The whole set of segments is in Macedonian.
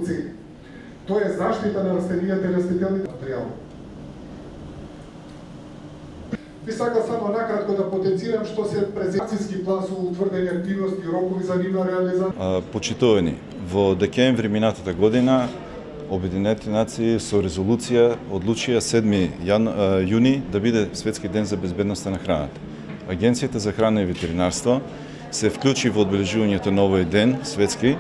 цели. Тоа е заштита на растенијата и растителните материјали. Би сакал само накратко да потенцирам што се презентацијски план со утврдени активности и рокови за нивна реализација. Почитувани, во декември минатата година Обединетите нации со резолуција одлучија 7 јуни да биде Светски ден за безбедноста на храната. Агенцијата за храна и ветеринарство се вклучи во одбележувањето на овој ден светски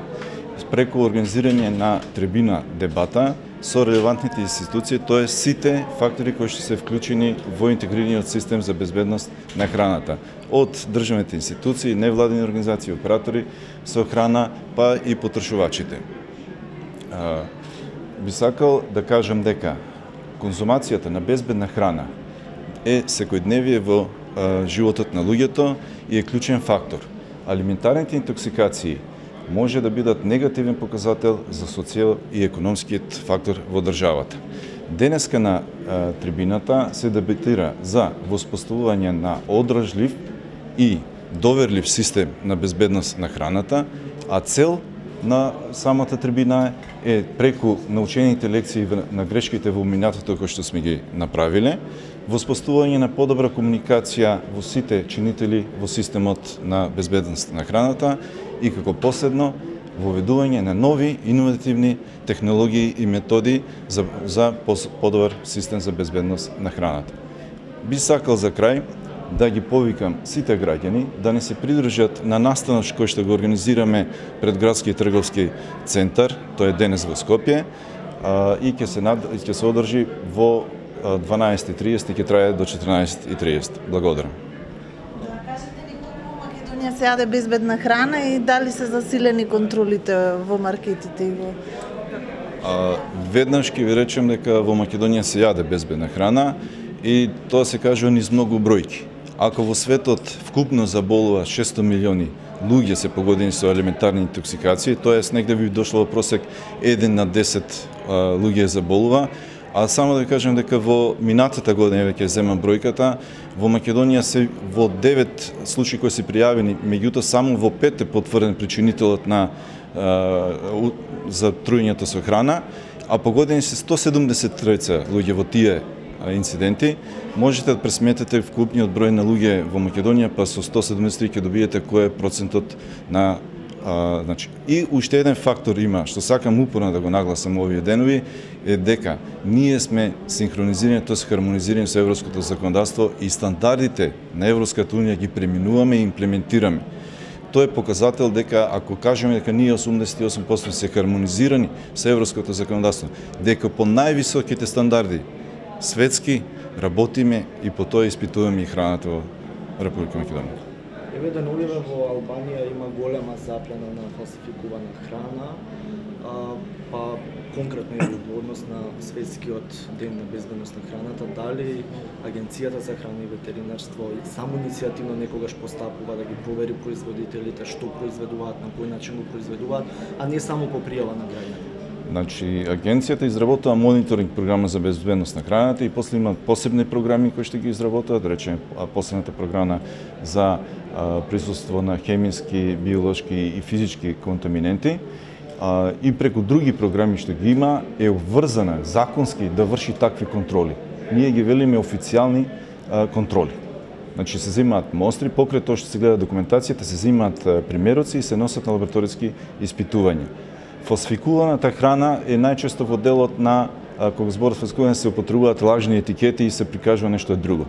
преку организирање на трибина дебата со релевантните институции, тоа сите фактори кои што се вклучени во интегрираниот систем за безбедност на храната, од државните институции, невладени организации, оператори со храна, па и потрошувачите. Би сакал да кажам дека конзумацијата на безбедна храна е секојдневие во животот на луѓето и е клучен фактор. Алиментарните интоксикации може да бидат негативен показател за социјал и економскиот фактор во државата. Денеска на трибината се дебатира за воспоставување на одржлив и доверлив систем на безбедност на храната, а цел на самата трибина е преку научените лекции на грешките во минатото кои што сме ги направиле, воспоставување на подобра комуникација во сите чинители во системот на безбедност на храната и како последно воведување на нови иновативни технологии и методи за подобар систем за безбедност на храната. Би сакал за крај да ги повикам сите граѓани да не се придржат на настанот кој што го организираме пред градски трговски центар, тоа е денес во Скопје, и ќе се одржи во 12:30 и ќе трае до 14:30. Благодарам. Кажете ни колку во Македонија се јаде безбедна храна и дали се засилени контролите во маркетите и во... Веднаш ќе ви речем дека во Македонија се јаде безбедна храна и тоа се кажува низ многу бројки. Ако во светот вкупно заболува 600 милиони луѓе се погодени со елементарни интоксикации, тоест негде би дошло во просек 1 на 10 луѓе заболува, а само да ви кажем дека во минатата година, веќе земам бројката, во Македонија се во 9 случаи кои се пријавени, меѓутоа само во 5 е потврден причинителот на за труењето со храна, а погодени се 173 луѓе во тие инциденти. Можете да пресметете вкупниот број на луѓе во Македонија, па со 173 ќе добиете кој е процентот на значи. И уште еден фактор има, што сакам упорно да го нагласам овие денови, е дека ние сме синхронизирани, тоа се хармонизирани со европското законодавство и стандардите на Европската унија ги преминуваме и имплементираме. Тоа е показател дека ако кажеме дека ние 88% се хармонизирани со европското законодавство, дека по највисоките стандарди светски работиме и по тоа испитуваме и храната во Република Македонија. Еве деновиве во Албанија има голема заплена на фалсификувана храна, па конкретно е одговорност на Светскиот ден на безбедност на храната. Дали Агенцијата за храна и ветеринарство само иницијативно некогаш постапува да ги провери производителите што произведуваат, на кој начин го произведуваат, а не само по пријава на граѓани? Значи, агенцијата изработува мониторинг програма за безбедност на храната и после има посебни програми кои што ги изработуваат, да речеме последната програма за присуство на хемиски, биолошки и физички контаминенти, и преку други програми што ги има е обврзана законски да врши такви контроли. Ние ги велиме официјални контроли. Значи се земаат мостри, покрај тоа што се гледа документацијата, се земаат примероци и се носат на лабораториски испитувања. Фалсификуваната храна е најчесто во делот на кога зборот фалсификување се употребуваат лажни етикети и се прикажува нешто друго.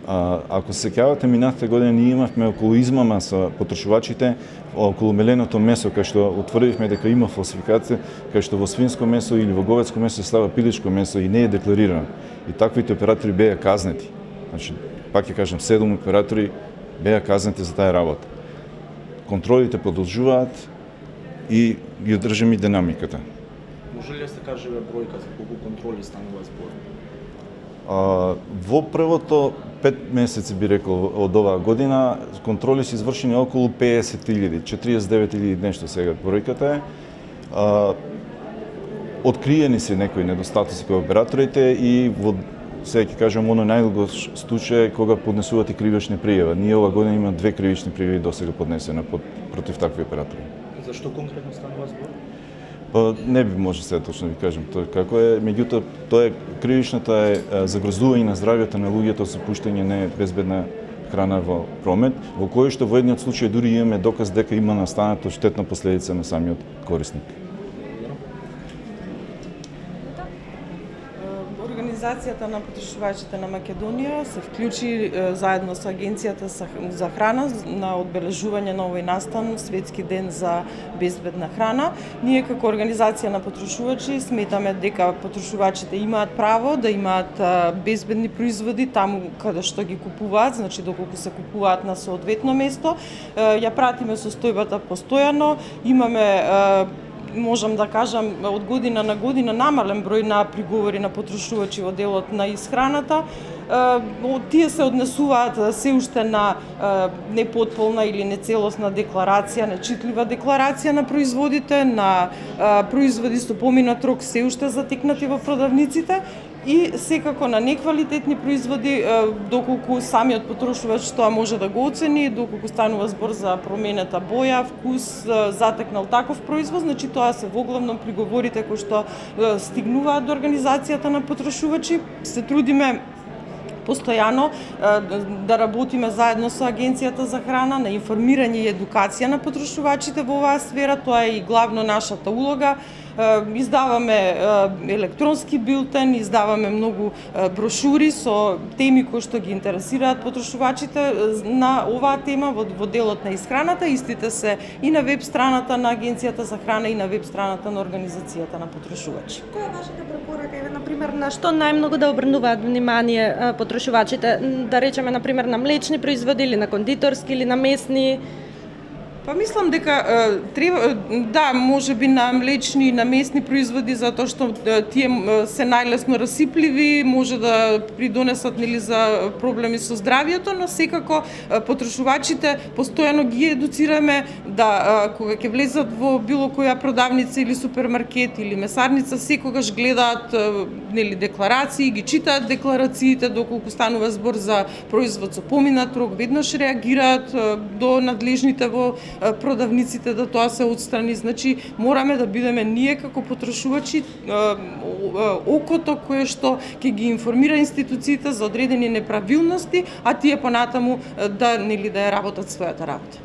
Ако се сеќавате, минатата година ние имавме околу измама со потрошувачите, околу меленото месо, кај што утврдивме дека има фалсификација, кај што во свинско месо или во говедско месо се става пилешко месо и не е декларирано. И таквите оператори беа казнети. Значи, пак ќе кажам, 7 оператори беа казнети за таа работа. Контролите продолжуваат и ги одржаме динамиката. Може ли да се каже бројка за колку контроли станува збор? Во првото 5 месеци би рекол од оваа година контроли се извршени околу 50.000, 49.000 нешто сега бројката е. Откриени се некои недостатоци кај операторите и во сега ќе кажам оно најдолго случај кога поднесуваат и кривични пријави. Ние оваа година има 2 кривични пријави досега поднесени против такви оператори. За што конкретно станува збор? Па не би може сега точно ви кажам тоа како е, меѓутоа тоа е кривичната е загрозување на здравјето на луѓето со пуштање небезбедна храна во промет, во кој што во едниот случај дури имаме доказ дека има настанато штетна последица на самиот корисник. Организацијата на потрошувачите на Македонија се вклучи заедно со Агенцијата за храна на одбележување на овој настан Светски ден за безбедна храна. Ние како организација на потрошувачи сметаме дека потрошувачите имаат право да имаат безбедни производи таму каде што ги купуваат, значи доколку се купуваат на соодветно место. Ја пратиме состојбата постојано, имаме можам да кажам, од година на година намален број на приговори на потрошувачи во делот на исхраната. Тие се однесуваат се уште на непотполна или нецелосна декларација, нечитлива декларација на производите, на производи со поминат рок се уште затекнати во продавниците и секако на неквалитетни производи, доколку самиот потрошувач тоа може да го оцени, доколку станува збор за променета боја, вкус, затекнал таков производ, значи тоа се воглавно приговорите кои што стигнуваат до организацијата на потрошувачи. Се трудиме постојано да работиме заедно со Агенцијата за храна на информирање и едукација на потрошувачите во оваа сфера, тоа е и главно нашата улога. Издаваме електронски билтен, издаваме многу брошури со теми кои што ги интересираат потрошувачите на оваа тема во делот на исхраната. Истите се и на веб страната на Агенцијата за храна и на веб страната на Организацијата на потрошувачи. Која е вашата препорака? Еве, например, на што најмногу да обрнуваат внимание потрошувачите? Да речеме, например, на млечни производи или на кондиторски или на месни? Па мислам дека треба, да, може би на млечни и на месни производи, затоа што тие се најлесно расипливи, може да придонесат нели за проблеми со здравјето, но секако потрошувачите постојано ги едуцираме да кога ќе влезат во било која продавница или супермаркет или месарница, секогаш гледаат нели декларации, ги читаат декларациите, доколку станува збор за производ со поминат рок, веднаш реагираат до надлежните во продавниците да тоа се отстрани. Значи, мораме да бидеме ние како потрошувачи окото кое што ќе ги информира институциите за одредени неправилности, а тие понатаму да ја работат својата работа.